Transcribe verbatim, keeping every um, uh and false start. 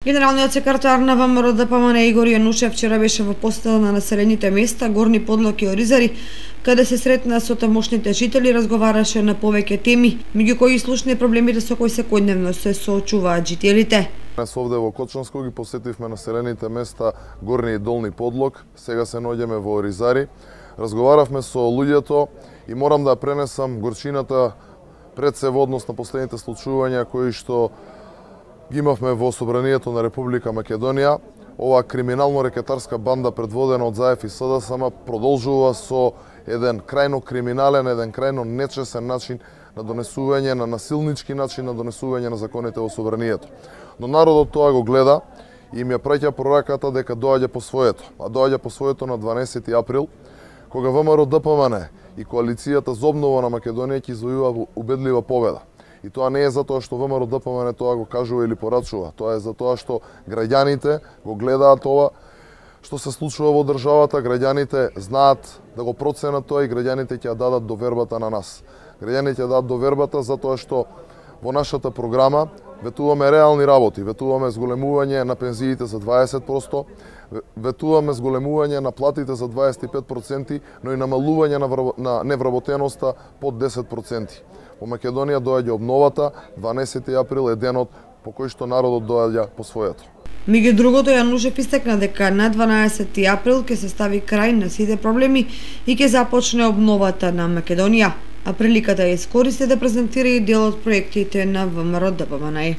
Генералниот секретар на ВМРО Д П М Н Игор Јанушев вчера беше во посета на населените места Горни Подлог и Оризари, каде се сретна со тамошните жители и разговараше на повеќе теми, меѓу кои слушни проблемите со кои секојдневно се соочуваат жителите. Днес овде во Кочанско ги посетивме населените места Горни и Долни Подлог, сега се наоѓаме во Оризари. Разговаравме со луѓето и морам да пренесам горчината пред се во однос на последните случувања кои што ги имавме во Собранието на Република Македонија. Оваа криминално-рекетарска банда предводена од Заев и С Д С М продолжува со еден крајно криминален, еден крајно нечесен начин на донесување, на насилнички начин на донесување на законите во Собранието. Но народот тоа го гледа и им ја праќа пораката дека доаѓа по своето. А доаѓа по своето на дванаесети април, кога В М Р Д П М Н и коалицијата за обнова на Македонија ќе извојува убедлива победа. И тоа не е затоа што В М Р Д П М Н тоа го кажува или порачува, тоа е затоа што граѓаните го гледаат ова што се случува во државата, граѓаните знаат да го проценат тоа и граѓаните ќе ја дадат довербата на нас. Граѓаните ќе дадат довербата затоа што во нашата програма ветуваме реални работи, ветуваме зголемување на пензиите за дваесет проценти, ветуваме зголемување на платите за дваесет и пет проценти, но и намалување на, на невработеноста под десет проценти. Во Македонија доаѓа обновата, дванаесети април е денот по кој што народот доаѓа по своето. Меѓу другото, Јанушев истакна дека на дванаесети април ќе се стави крај на сите проблеми и ќе започне обновата на Македонија, а приликата ја искористи да презентира и дел од проектите на В М Р Д П М Н.